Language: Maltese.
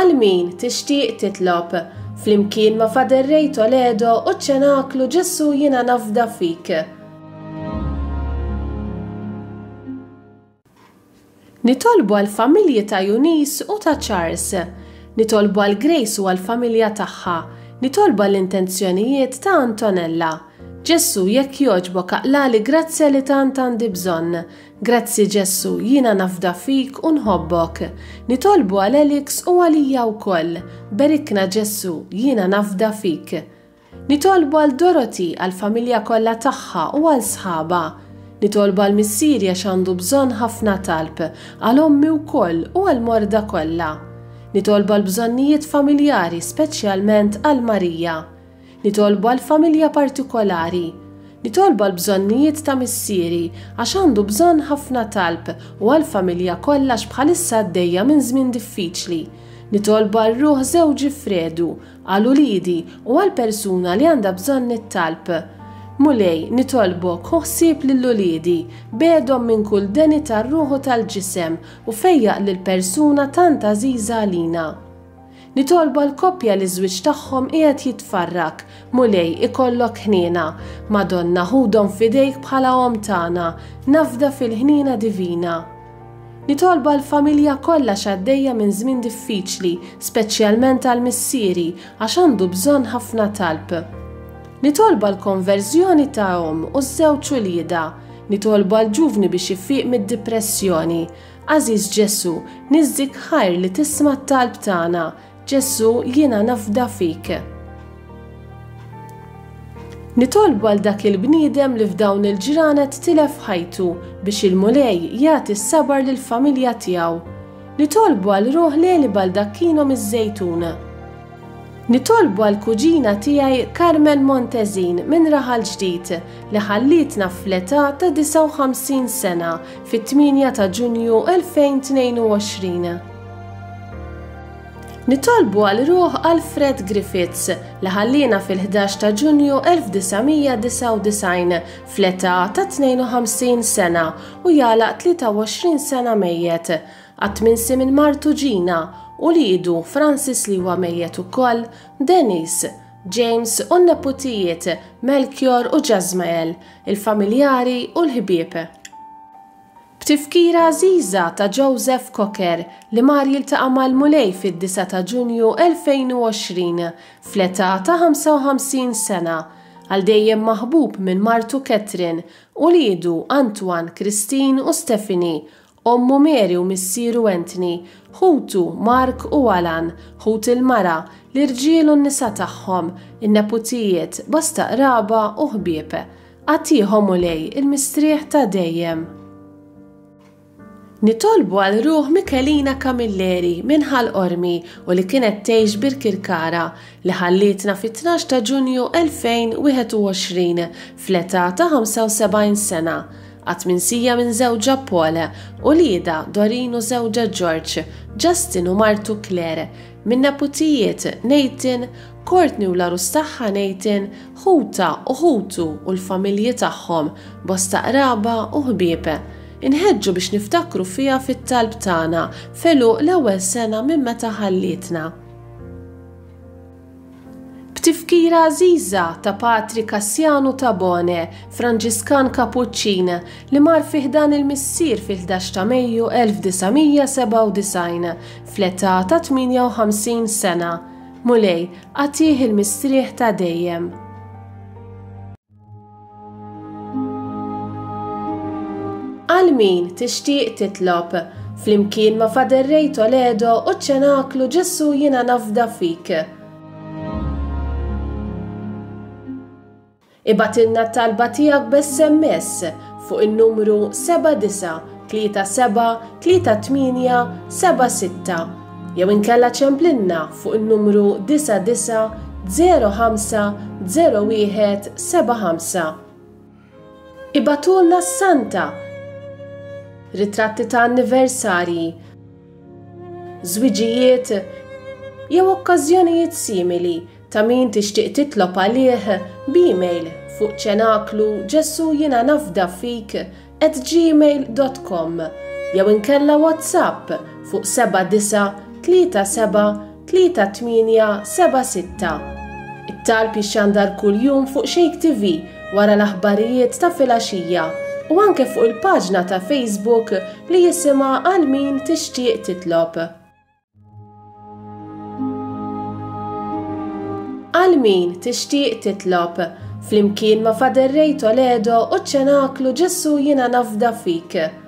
Għal min tixtieq titlob, flimkien ma' Father Ray Toledo u ċ-Ċenaklu Ġesù Jiena Nafda Fik. Nitolbu għall-familji ta' Eunice u ta' Charles. Nitolbu għal Grace u għall-familja tagħha. Nitolbu għall-intenzjonijiet ta' Antonella. Ġesù, jekk jogħġbok aqlagħli grazzja li tant għandi bżonn. Grazzi Ġesù, jiena nafda fik u nħobbok. Nitolbu għal Alex u għalija wkoll. Berikna Ġesù, jiena nafda fik. Nitolbu għal Dorothy, għall-familja kollha tagħha u għal sħabha. Nitolbu għal missieri għax għandu bżonn ħafna talb, għal ommi wkoll u għall-morda kollha. Nitolbu għall-bżonnijiet familjari speċjalment għal Marija. Nitolbu għal familja partikolari. Nitolbu għall-bżonnijiet ta' missieri għax għandu bżonn ħafna talb u għall-familja kollha għax bħalissa għaddejja minn żmien diffiċli. Nitolbu għal ruħ żewġi Fredu, għal uliedi u għal persuna li għandha bżonn it-talb. Mulej, nitolbok, ħu ħsieb lil uliedi, begħedhom minn kull deni tar-ruħ u tal-ġisem u fejjaq lil persuna tant għażiża għalina. Nitolbu għal koppja li ż-żwieġ tagħhom qiegħed jitfarrak, Mulej, ikollok ħniena. Madonna, ħudhom f'idejk bħala omm tagħna, nafda fil-ħniena divina. Nitolbu għall-familja kollha x'għaddejja minn żmien diffiċli, speċjalment għal missieri għax għandu bżonn ħafna talb. Nitolbu għall-konverżjoni ta' omm u ż-żewġ uliedha. Nitolbu għall-ġuvni biex ifiq mid-dipressjoni. Għażiż Ġesù, niżżik ħajr li tisma' t-talb tagħna. Ġesù, jiena nafda fik. Nitolbu għal dak il-bniedem li f'dawn il-ġranet tilef ħajtu biex il-Mulej jagħti s-sabar lill-familja tiegħu. Nitolbu għal ruħ Leli Baldacchino miż-Żejtun. Nitolbu għall-kuġina tiegħi Carmen Montesin minn Raħal Ġdid li ħallietna fl-età ta' 59 sena fit-8 ta' Ġunju 2022. Nitolbu għal ruħ Alfred Griffiths li ħalliena fil-11 ta' Ġunju 1999 fl-età ta' 52 sena u jagħlaq 23 sena mejjet. Qatt minsi minn martu Gina, uliedu Francis li huwa mejjet ukoll, Denise, James u n-neputijiet Melchior u Jasmael, il-familjari u l-ħbieb. B'tifkira għażiża ta' Joseph Cocker li mar jiltaqa' mal-Mulej fid-disgħa ta' Ġunju 2020 fl-età ta' 55 sena, għal dejjem maħbub minn martu Catherine, uliedu Antoine, Christine u Stephanie, ommu Mary u missieru Anthony, ħutu Mark u Alan, ħut il-mara, l-irġiel u n-nisa tagħhom, in-neputijiet, bosta qraba u ħbieb. Agħtih, O Mulej, il-mistrieħ ta' dejjem. Nitolbu għal ruħ Michelina Camilleri minn Ħal Qormi u li kienet tgħix Birkirkara, li ħallietna fit-tnax ta' Ġunju 2021 fl-età ta' 75 sena. Qatt minsija minn żewġha Paul, uliedha Doreen u żewġha George, Justin u martu Claire, Min-neputijiet, Nathan, Courtney u l-għarus tagħha Nathan, ħutha u ħutu u l-familji tagħhom, bosta qraba u ħbieb. Inħeġġu biex niftakru fiha fit-talb tagħna f'għeluq l-ewwel sena minn meta ħallietna. B'tifkira għażiża ta' Patri Cassiano Tabone, Franġiskan Kapuċċin, li mar fi ħdan il-Missier fil-ħdax ta' Mejju 1997, fl-età ta' 58 sena. Mulej, agħtih il-mistrieħ ta' dejjem. Għal min tixtieq titlob, flimkien ma' Father Ray Toledo u ċ-Ċenaklu Ġesù Jiena Nafda Fik. Ibgħatilna t-talba tiegħek b'SMS fuq in-numru 7937 3876 jew inkella ċemplilna fuq in-numru 99 05 01 75. Ibagħtulna s-santa, ritratti ta' anniversarji, żwiġijiet jew okkażjonijiet simili ta' min tixtieq titlob għalih b'email fuq ċenaklu Ġesù jiena nafda fik at gmail dot com jew inkella WhatsApp fuq 79 37 38 76. 3876. It-talb jixxandar kuljum fuq Shake TV wara l-aħbarijiet ta' filgħaxija u anke fuq il-paġna ta' Facebook li jisimha Għal Min Tixtieq Titlob. Għal min tixtieq titlob, flimkien ma' Father Ray Toledo u ċ-Ċenaklu Ġesù Jiena Nafda Fik.